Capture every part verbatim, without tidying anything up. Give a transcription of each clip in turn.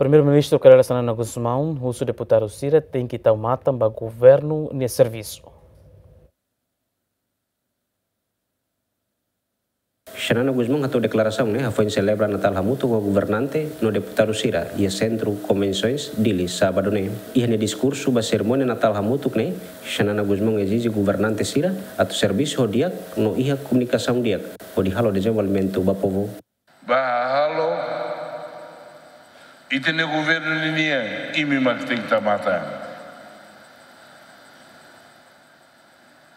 Primeiru-Ministru Kay Rala Xanana Gusmão husu deputadu sira tenke tau matan ba governu nia servisu. Xanana Gusmão hato'o deklarasaun ne'e hafoin selebra Natál hamutuk ho governante no deputadu sira iha Sentru Konvensoens Dili, sábadu ne'e. Iha nia diskursu ba serimónia Natál hamutuk ne'e, Xanana Gusmão ezije governante sira atu servisu ho di'ak no iha komunikasaun di'ak hodi halo dezenvolvimentu ba povu. Ba halo, ita-nia governu ninian, imi mak tenke tau matan.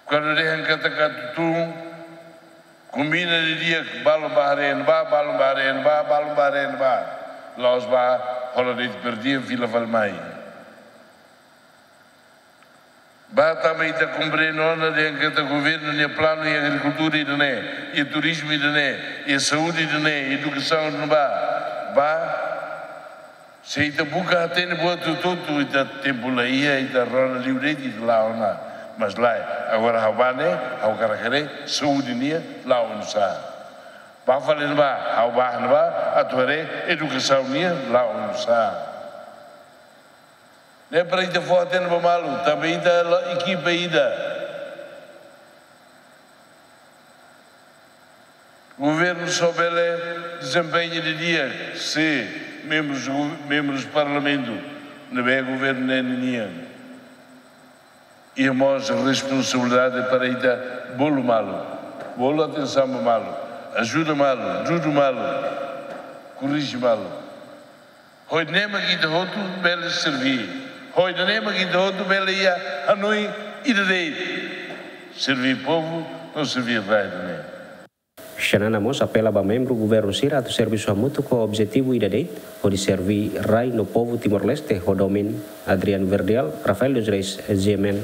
Kuandu dehan katak atu tun, kombina didi'ak, balun ba haree ne'ebá, balun ba haree ne'ebá, balun ba haree ne'ebá. La'ós ba hola de'it perdian fila fali mai. Ba tanba ita komprende ona dehan katak governu nia planu iha agrikultura ida-ne'e, iha turizmu ida-ne'e, iha saúde ida-ne'e, edukasaun ida-ne'ebá. Ba, se ita buka hatene buat hotu-hotu, ita tempu la iha, ita rona liu de'it, ita la'o ona. Mas lae, agora ha'u bá ne'e, ha'u hakarak haree saúde nian la'o oinsá. Ba fali ne'ebá, ha'u bá ne'ebá, atu haree edukasaun nian la'o oinsá. Ne'e para ita fó hatene ba malu, tanba ita la ekipa ida. Governu só bele dezempeña didi'ak se membrus, membrus parlamentu ne'ebé governu ne'e ninian. Iha mós responsabilidade para ita bolu malu, bolu atensaun ba malu, ajuda malu, dudu malu, korrije malu. Ho ida-ne'e mak ita hotu bele serví. Ho ida-ne'e mak ita hotu bele iha hanoin ida de'it. Serví povu no serví rai ida-ne'e. Xanana mós apela ba membru governu sira atu servisu hamutuk ho objetivu ida de'it, hodi serví rai no povu Timor-Leste ho domin. Adrian Verdial, Rafael dos Reis, G M N.